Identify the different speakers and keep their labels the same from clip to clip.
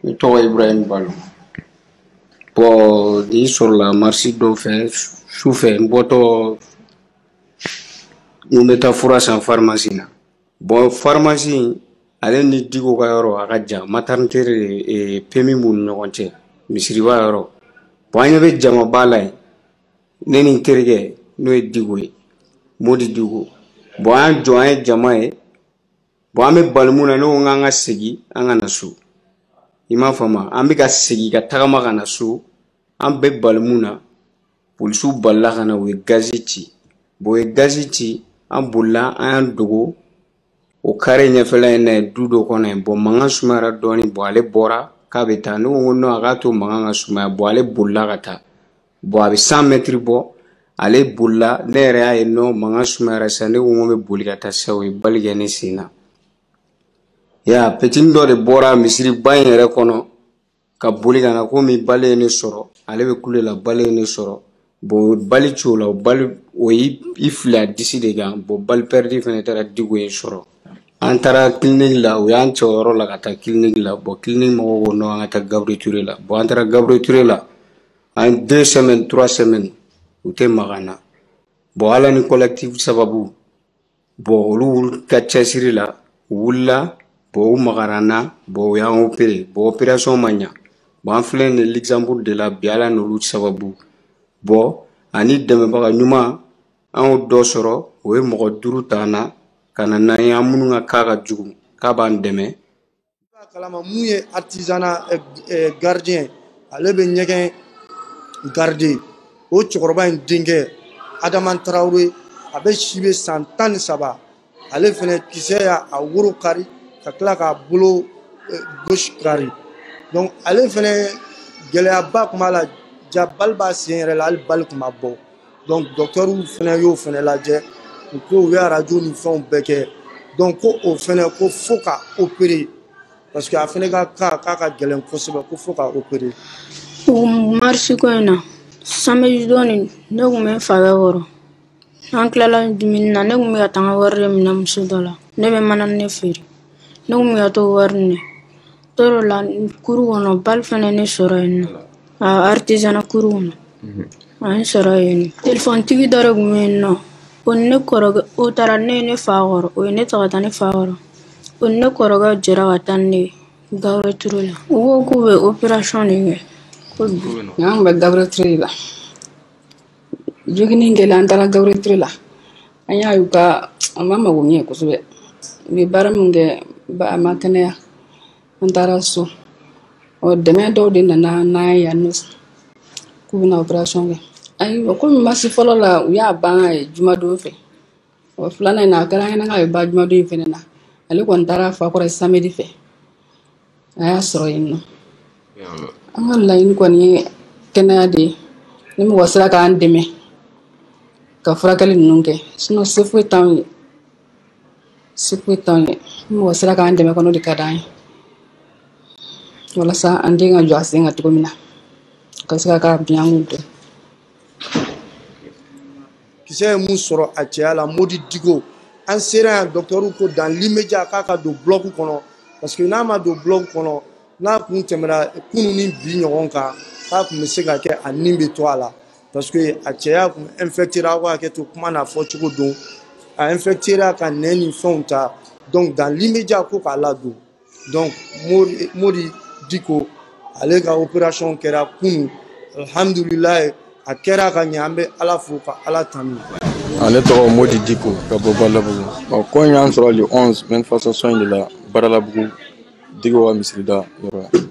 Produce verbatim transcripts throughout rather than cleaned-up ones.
Speaker 1: Ne tɔgɔ Ibrahim Balo. Bon, nin sɔrɔla marisi dɔ fɛ su fɛ, n bɔtɔ n bɛ taa fura san pharmacie na. Bon, pharmacie ale ni Diko ka yɔrɔ a ka jan, maternité de P M I b'u ni ɲɔgɔn cɛ, misiriba yɔrɔ. Bon, an ɲɛ bɛ jamaba la yen, ne ni n terikɛ n'o ye Diko ye, Modi Diko. Bon, an y'an jɔ, an ye jama ye. Bon, an bɛ bali mun na, ne ko k'an ka segin, an ka na so. I m'a faamu, an bɛ ka segin ka tagama ka na so, an bɛ bali mun na, polisiw balila ka na, u ye gazi ci. Bon, u ye gazi ci, an bolila, an y'an dogo o carré ɲɛfɛla in na yen, du dɔ kɔnɔ yen. Bon, mankan sumayara dɔɔnin. Bon, ale bɔra k'a bɛ taa, ne ko ko non, a k'a to mankan ka sumaya. Bon, ale bolila ka taa. Bon, a bɛ cent mètres bɔ, ale bolila, ne yɛrɛ y'a ye non, mankan sumayara sisan. Ne ko n ko n bɛ boli ka taa sisan, o ye balle kɛ ne sen na. Ya petini dɔ de bɔra misiriba in yɛrɛ kɔnɔ ka boli ka na, komi balle ye ne sɔrɔ, ale bɛ kule la, balle ye ne sɔrɔ. Bon, o ye balle ci o la, o balle o y'i fili a disi de kan. Bon, balle perdue fɛnɛ taara Diko in sɔrɔ. An taara clinique la, u y'an cɛ o yɔrɔ la ka taa clinique la. Bon, clinique mɔgɔw ko non, an ka taa Gabriel Touré la. Bon, an taara Gabriel Touré la, an ye deux semaines, trois semaines, u tɛ maga an na. Bon, Ala ni collectif sababu, bon, olu ka cɛsiri la, u wulila. Bon, u magara an na. Bon, u y'an opéré. Bon, opération ma ɲa. Bon, an filɛ nin ye Luxembourg de la bi, Ala n'olu sababu. Bon, ani dɛmɛbaga ɲuman, an y'o dɔ sɔrɔ, o ye mɔgɔ duuru ta an na ka na n'an ye, an minnu ka cas ka jugu, k'a b'an dɛmɛ.
Speaker 2: Kalama mun ye artisanat gardien, ale bɛ ɲɛgɛn garder, o cɛkɔrɔba in denkɛ Adama Tarawele, a bɛ si bɛ san tan ni saba, ale fɛnɛ kisɛ y'a a woro kari ka tila k'a bolo gauche kari. Donc ale fɛnɛ gɛlɛyaba tun b'a la, ja balle b'a sen yɛrɛ la, hali balle tun ma bɔ. Donc docteur fɛnɛ y'o fɛnɛ lajɛ, u ko u ye arajo ni fɛnw bɛɛ kɛ. Donc ko o fɛnɛ ko fo ka opérer, parce que a fɛnɛ ka cas k'a ka gɛlɛn kosɛbɛ, ko fo ka opérer.
Speaker 3: O marisi ko in na, samedi don nin, ne kun bɛ n fakɛ kɔrɔ. An tilala dumuni na, ne kun bɛ ka taa n ka wari de minɛ muso dɔ la. Ne bɛ manani feere, ne kun bɛ ka t'o wari minɛ tɔrɔ la kuru kɔnɔ, balle fɛnɛ ne sɔrɔ yen nɔ, a artisanat kuru kɔnɔ, a ye n sɔrɔ yen nɔ. Telefɔnitigi dɔ de kun bɛ yen nɔ, o ni ne kɔrɔkɛ, o taara ne ye ne fa kɔrɔ, o ye ne ta ka taa ne fa kɔrɔ. O ni ne kɔrɔkɛ jɛra ka taa ni ne ye Gabriel Touré la. U ko k'u bɛ opération de kɛ ko bi.
Speaker 4: An kun bɛ Gabriel Touré la, jogini kɛlen, an taara Gabriel Touré la, an y'a ye u ka a ma mago ɲɛ kosɛbɛ, u ye baara min kɛ, a ma kɛnɛya. An taara so, ɔ dɛmɛ dɔw de nana n'an ye yan nɔ k'u bɛna opération kɛ. Ayiwa, komi marisi fɔlɔ la, u y'a ban jumadon fɛ, ɔ filanan in na, a kɛra an ɲɛna k'a bɛ ban jumadon in fɛnɛ na. Ale kɔni taara fa kɔrɔ samedi fɛ, a y'a sɔrɔ yen nɔ. An ka laɲini kɔni ye kɛnɛya de ye, ni mɔgɔ sera k'an dɛmɛ ka furakɛli ninnu kɛ, sinon se foyi t'anw ye, se foyi t'anw ye. Ni mɔgɔ sera k'an dɛmɛ kɔni, o de ka d'an ye, walasa an den ka jɔ a sen kan cogo min na, ka se ka k'a bi an k'u dɔn.
Speaker 2: Kisɛ ye mun sɔrɔ a cɛya la, Modi Diko, an sera yan, docteur ko dans l'immédiat k'a ka don bloc kɔnɔ, parce que n'a ma don bloc kɔnɔ, n'a kun tɛmɛna kunun ni bi ɲɔgɔn kan, k'a kun bɛ se ka kɛ a nin bɛ to a la, parce que a cɛya kun infecté ra. Aw ka hakɛ to kuma n'a fɔ cogo don, a infecté ra ka nɛn ni fɛnw ta. Donc dans l'immédiat ko k'a ladon. Donc Modi, Modi Diko, ale ka opération kɛra kunun, alhamdulilayi, a kɛra ka ɲɛ, an bɛ Ala fo ka Ala tanu.
Speaker 5: Ne tɔgɔ Modi Diko ka bɔ Badalabugu. Bon, ko in y'an sɔrɔ le onze manifestation in de la Badalabugu, Diko ka misirida yɔrɔ.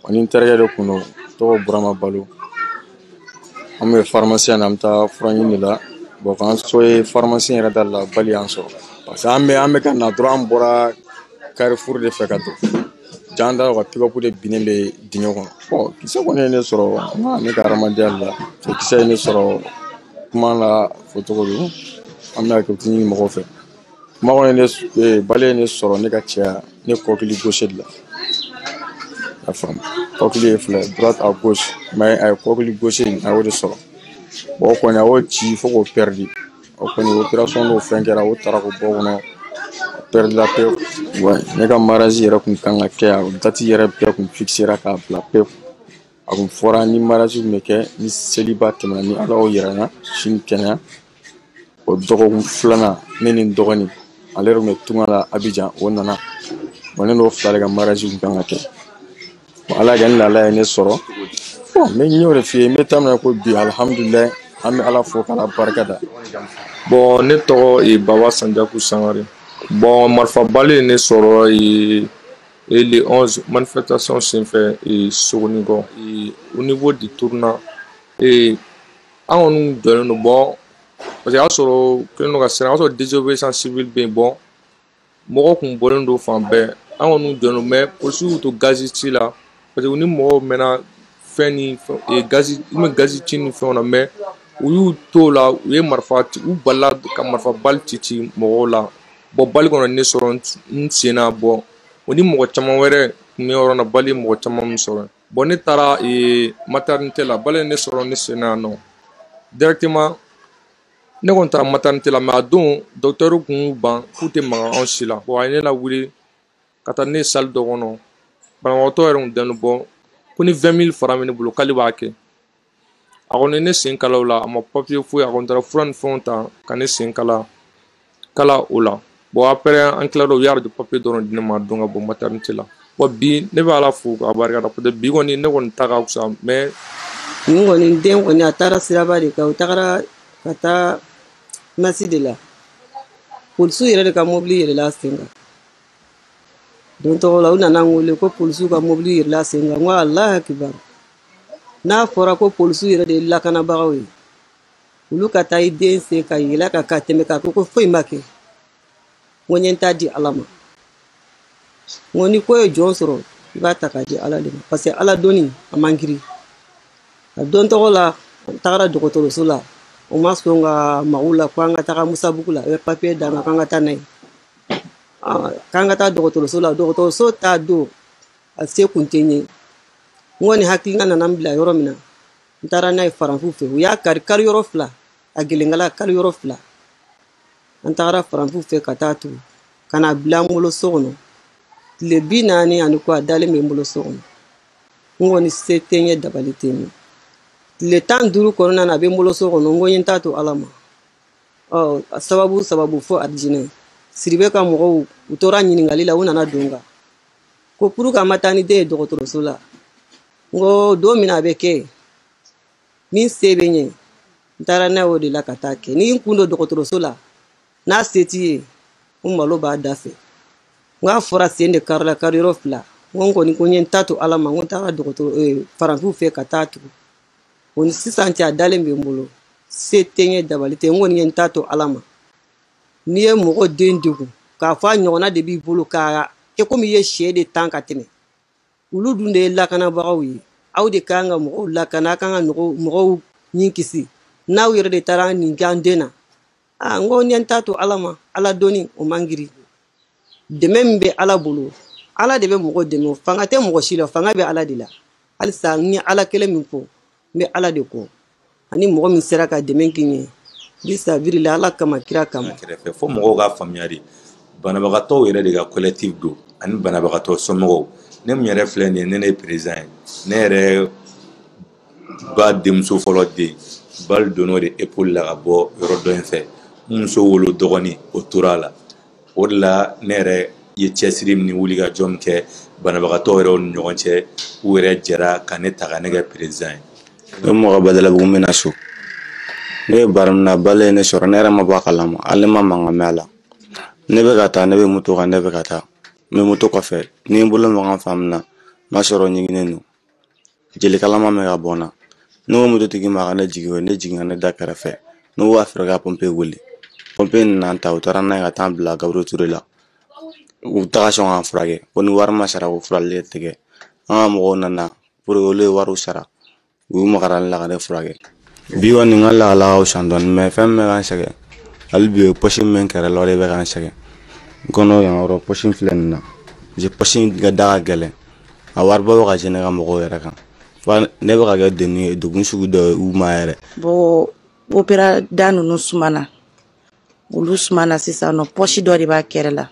Speaker 5: Ani n terikɛ de kun don, tɔgɔ Burama Balo. An bɛ pharmacie na, an bɛ taa fura ɲini de la. Bon, k'an so ye pharmacie yɛrɛ da la, balle y'an sɔrɔ. Parce que an bɛ an bɛ ka na dɔrɔn, an bɔra Carrefour de fɛ ka don. Jan da ka pick-up de binnen bɛ dingɛ kɔnɔ. Bon, kisɛ kɔni ye ne sɔrɔ ne ka hadamadenya la. Kisɛ ye ne sɔrɔ kuma la fɔ cogo don. An bɛ hakɛ ɲini mɔgɔw fɛ. Kuma kɔni ne balle ye ne sɔrɔ ne ka cɛya, ne kɔkili gauche de la. I y'a faamu, kɔkili ye fila ye, droite à gauche, mais a ye kɔkili gauche in, a y'o de sɔrɔ. Bon, o kɔni a y'o ci fo k'o perdre. O kɔni opération n'o fɛn kɛra, o taara k'o bɔ o kɔnɔ, perdre la pewu. Ouais, ne ka mariage yɛrɛ kun kan ka kɛ yan, o date yɛrɛ bɛɛ kun fixera k'a bila pewu. A kun fɔra ni mariage kun bɛ kɛ ni seliba tɛmɛna, ni Ala y'o yira n na sini kɛnɛya. O dɔgɔkun filanan, ne ni n dɔgɔnin, ale yɛrɛ kun bɛ tunga la Abidjan, o nana. Bon, ne n'o fila de ka mariage kun kan ka kɛ. Bon, Ala y'a kɛ ni lahala ye ne sɔrɔ. Bon, n bɛ y'o de f'i ye, n bɛ taa min na ko bi, alihamudulilayi, an bɛ Ala fo k'Ala barika da.
Speaker 6: Bon, ne tɔgɔ ye Baba Sanjaku Sangare. Bon, marifabali ye ne sɔrɔ ye et le onze manifestation senfɛ Sogonikɔ au niveau du tournant. Et an kɔni jɔlen don, bon, parce que y'a sɔrɔ kɛlen don ka siran, o y'a sɔrɔ désobéissance civile bɛ yen. Bon, mɔgɔw kun bɔlen don fan bɛɛ, an kɔni jɔlen don, mais polisiw y'u to gazi ci la, parce que u ni mɔgɔw mɛnna fɛn ni fɛn gazi, u bɛ gazi ci ni fɛnw na, mais u y'u to la, u ye marifa, u balila ka marifa bali ci ci mɔgɔw la. Bon, bali kɔnɔ ne sɔrɔ n sen na. Bon, o ni mɔgɔ caman wɛrɛ tun bɛ yɔrɔ na, bali mɔgɔ caman min sɔrɔ. Bon, ne taara maternité la, bali ne sɔrɔ ne sen na nɔ directement. Ne kɔni taara maternité la, mais a don docteur kun y'u ban k'u tɛ maga anw si la. Bon, a ye ne lawuli ka taa ne salle dɔ kɔnɔ, banabagatɔ yɛrɛ kun dɛnnen. Bɔ ko ni vingt mille francs bɛ ne bolo k'ale b'a kɛ. A kɔni ne sen kala o la, a ma papier foyi, a kɔni taara fura ni fɛnw ta ka ne sen kala kala o la. Bon, après an tilala, u y'a radio papier dɔrɔn di ne ma don ka bɔ maternité la. Bon, bi ne bɛ Ala fo k'a barika da, peut-être bi kɔni ne kɔni ta ka fisa, mais
Speaker 7: nin kɔni den kɔni a taara siraba de kan, u tagara ka taa masi de la, polisiw yɛrɛ de ka mobili yɛlɛla a sen kan. Don tɔgɔ la, u nana n wele ko polisiw ka mobili yɛlɛla a sen kan. N ko Alahu akibaru, n'a fɔra ko polisiw yɛrɛ de ye lakanabagaw ye, olu ka taa i den sen ka yɛlɛ ka ka tɛmɛ k'a ko ko foyi ma kɛ. N ko n ye n ta di Ala ma. N ko ni ko ye jɔn sɔrɔ, i b'a ta k'a di Ala de ma, parce que Ala dɔnni a man girin. A don tɔgɔ la, an tagara dɔgɔtɔrɔso la, o ma sɔn ka mago la ko an ka taga Musabugu la, u ye papiye d'an ma k'an ka taa n'a ye, k'an ka taa dɔgɔtɔrɔso la. Dɔgɔtɔrɔso t'a don, a se kun tɛ n ye. N kɔni hakilina nana n bila yɔrɔ min na, n taara n'a ye faranfu fɛ, u y'a kari kari yɔrɔ fila, a gelenkala kari yɔrɔ fila. An tagara faranfu fɛ ka taa turu ka na bila n bolo so kɔnɔ. Tile bi naani ani kɔ, a dalen bɛ n bolo so kɔnɔ. N kɔni se tɛ n ye, dabali tɛ n ye. Tile tan duuru kɔnɔna na, a bɛ n bolo so kɔnɔ. N ko n ye n ta to Ala ma. Ɔ sababu sababu fo arijinɛ Siribe ka mɔgɔw, u tora ɲininkali la, u nana don n kan ko pour que an ma taa ni den ye dɔgɔtɔrɔso la. N ko don min na a bɛ kɛ, min se bɛ n ye, n taara n'a ye o de la ka taa kɛ. Ni n kun don dɔgɔtɔrɔso la, n'a se t'i ye, n malo b'a da fɛ. N k'a fɔra sen de karila kari yɔrɔ fila. N ko n kɔni ko n ye n ta to Ala ma. N ko n taara dɔgɔtɔrɔ faransiw fɛ ka taa tugu. O ni sisan cɛ, a dalen bɛ n bolo, se tɛ n ye, dabali tɛ n kɔni ye n ta to Ala ma. N'i ye mɔgɔ den degun k'a fɔ a ɲɔgɔnna de b'i bolo k'a kɛ komi i ye sɛ de tan ka tɛmɛ, olu dun de ye lakanabagaw ye. Aw de kan ka mɔgɔw lakana, aw kan ka mɔgɔw ɲin kisi. N'aw yɛrɛ de taara nin kɛ an den na, aa, n ko n ye n ta to Ala ma. Ala dɔnni o man girin. Dɛmɛ min bɛ Ala bolo, Ala de bɛ mɔgɔ dɛmɛ, fanga tɛ mɔgɔ si la, fanga bɛ Ala de la. Halisa n ye Ala kelen min fɔ, n bɛ Ala de kɔ, ani mɔgɔ min sera ka dɛmɛ kɛ n ye bisabiri la, Ala kama, kira kama.
Speaker 8: Kɛrɛfɛ fo mɔgɔw k'a faamuya de, banabagatɔw yɛrɛ de ka collectif don ani banabagatɔ somɔgɔw. Ne min yɛrɛ filɛ nin ye, ne ne ye président ye. Ne yɛrɛ ba denmuso fɔlɔ den bali donn'o de épaule la ka bɔ yɔrɔ dɔ in fɛ, n muso wolo dɔgɔnin o tora a la. O de la ne yɛrɛ ye cɛsiri ni wulikajɔ min kɛ banabagatɔ yɛrɛw ni ɲɔgɔn cɛ, u yɛrɛ jɛra ka ne ta ka ne kɛ président ye.
Speaker 9: Ne mɔgɔ Badalabugu, n bɛna so. Ne ye baara min na, bali ye ne sɔrɔ, ne yɛrɛ ma bɔ a kalama, hali ne ma mankan mɛn a la. Ne bɛ ka taa, ne bɛ moto kan, ne bɛ ka taa, n bɛ moto kɔfɛ, ni n bolo maga fan min na, n b'a sɔrɔ ɲiginnen don, jeli kalama bɛ ka bɔ n na. Ne ko mototigi ma a ka ne jigin, o ye ne jigin ka ne da kɛrɛfɛ. Ne ko a fɛrɛ ka pompier wele, pompier nana n ta, u taara n'a ye ka taa n bila Gabriel Touré la. U taga sɔn k'an furakɛ ko ni wari ma sara ko furali tɛ kɛ. An ka mɔgɔw nana pour que olu ye wariw sara, u y'u magara ne la ka ne furakɛ. Bi kɔni n ka lahala ka fisa dɔɔnin, mais fɛn min bɛ ka n sɛgɛn hali bi, o ye poche min bɛ n kɛrɛ la, o de bɛ ka n sɛgɛn. N kɔnɔ yan yɔrɔ poche filɛ nin na, parce que poche in ka da ka gɛlɛn, a wariba bɛ ka jɛ ne ka mɔgɔw yɛrɛ kan, fa ne bɛ ka kɛ degun ye, degun sugu dɔ ye u ma yɛrɛ.
Speaker 10: Bon, opéra da ninnu sumana, olu sumana sisan nɔ, poche dɔ de b'a kɛrɛ la.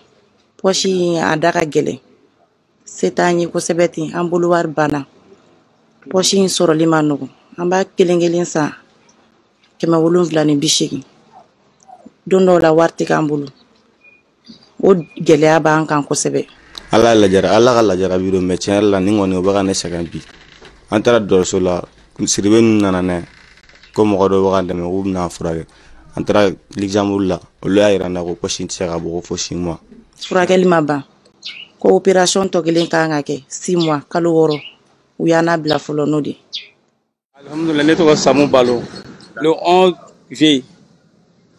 Speaker 10: Poche in a da ka gɛlɛn, se t'an ye kosɛbɛ ten, an bolo wari banna. Poche in sɔrɔli ma nɔgɔn, an b'a kelen kelen san kɛmɛ wolonwula ni bi seegin. Don dɔw la wari tɛ k'an bolo, o gɛlɛya b'an kan kosɛbɛ.
Speaker 9: Ala lajara, Ala ka lajarabi don, mais tiɲɛ yɛrɛ la nin kɔni o bɛ ka ne sɛgɛn bi. An taara dɔgɔtɔrɔso la, Sidibe ninnu nana n'a ye ko mɔgɔ dɔw bɛ ka dɛmɛ k'u bɛna furakɛ. An taara Luxembourg la, olu y'a yira n na ko poche in tɛ se ka bɔ ko fo six mois.
Speaker 10: Furakɛli ma ban, ko opération tɔ kelen kan ka kɛ six mois, kalo wɔɔrɔ. U y'an labila fɔlɔ n'o de.
Speaker 11: Alhamdulillah, ne tɔgɔ Samu Balo. Le onze juillet,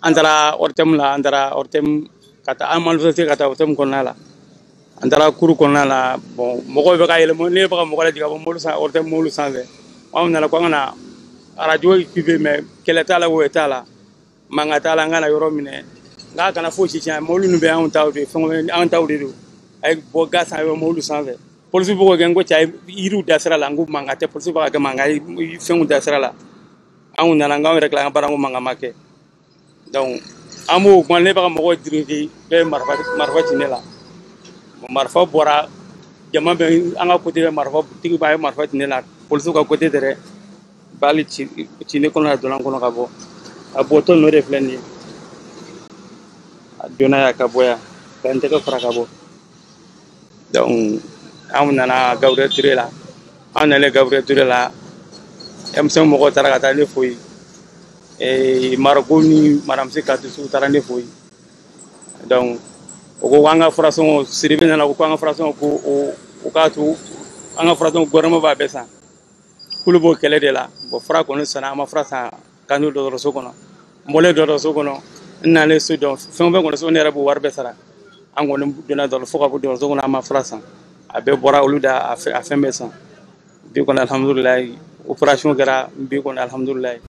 Speaker 11: an taara O R T M la, an taara O R T M ka taa an manifester ka taa O R T M kɔnɔna la. An taara cour kɔnɔna la, bon, mɔgɔw bɛ ka yɛlɛ, ne bɛ ka mɔgɔ lajigin ka bɔ mobili san O R T M mobili sanfɛ. Anw nana ko an ka na radio équipé, mais kɛlɛ t'a la, woyo t'a la, mankan t'a la, an kana yɔrɔ minɛ, n k'a kana fosi tiɲɛ, mobili ninnu bɛ anw taw de, fɛn anw taw de don. A ye bɔ ga san bɛ mobili sanfɛ. Polisi bɛ k'o kɛ, n ko cɛ, a ye yiriw da sira la, n ko mankan tɛ, polisi bɛ ka kɛ mankan ye, fɛnw da sira la. Anw nana, n k'anw yɛrɛ tila an ka baara, ko mankan ma kɛ. Donc an b'o kuma, ne bɛ ka mɔgɔw dirige, bɛɛ ye marifa marifa ci ne la. Marifa bɔra, jama bɛ an ka côté bɛ, marifa tigi b'a ye marifa ci ne la, polisiw ka côté tɛ dɛ. Balle ci ci ne kɔnɔ, a donna n kɔnɔ ka bɔ, a bɔtɔ n'o de filɛ nin ye. A donna yan ka bɔ yan ka n tɛgɛ fara ka bɔ. Donc anw nana Gabriel Touré la, an nalen Gabriel Touré la, M cinq mɔgɔw taara ka taa ne fo yen, Mariko ni madame Katisu taara ne fo yen. Donc o ko an ka furasɔngɔ, Sidibe nana ko an ka furasɔngɔ, ko o o k'a to an ka furasɔngɔ, gouvernement b'a bɛɛ san, k'olu b'o kɛlɛ de la. Bon, fura kɔni sanna, an ma fura san k'an to dɔgɔtɔrɔso kɔnɔ. N bɔlen dɔgɔtɔrɔso kɔnɔ, n nalen so, dɔn fɛn o fɛn kɔni so, ne yɛrɛ b'o wari bɛɛ sara. An kɔni donna dɔgɔtɔrɔso fo ka bɔ dɔgɔtɔrɔso kɔnɔ, an ma fura san, a bɛɛ bɔra olu da, a fɛn bɛɛ san. Bi kɔni, alhamdulilayi, opération kɛra bi kɔni, alhamdulilayi.